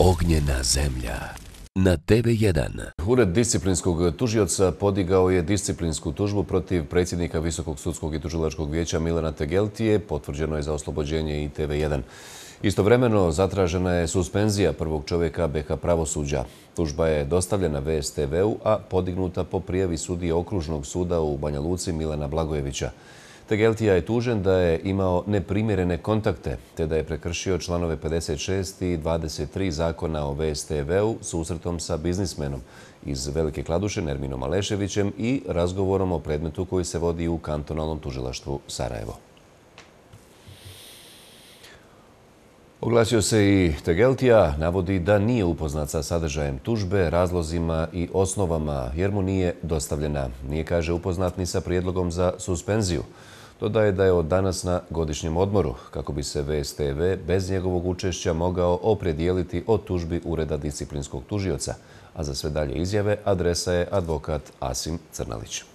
Ognjena zemlja na TV1. Ured disciplinskog tužioca podigao je disciplinsku tužbu protiv predsjednika Visokog sudskog i tužilačkog vijeća Milana Tegeltije. Potvrđeno je za oslobođenje i TV1. Istovremeno zatražena je suspenzija prvog čovjeka BiH pravosuđa. Tužba je dostavljena VSTV-u, a podignuta po prijavi sudije Okružnog suda u Banja Luci Milana Blagojevića. Tegeltija je tužen da je imao neprimjerene kontakte, te da je prekršio članove 56 i 23 zakona o VSTV-u susretom sa biznismenom iz Velike Kladuše Nerminom Aleševićem i razgovorom o predmetu koji se vodi u kantonalnom tužilaštvu Sarajevo. Oglasio se i Tegeltija, navodi da nije upoznat sa sadržajem tužbe, razlozima i osnovama jer mu nije dostavljena. Nije, kaže, upoznat ni sa prijedlogom za suspenziju. Dodaje da je od danas na godišnjem odmoru, kako bi se VSTV bez njegovog učešća mogao opredijeliti o tužbi Ureda disciplinskog tužioca. A za sve dalje izjave adresa je advokat Asim Crnalić.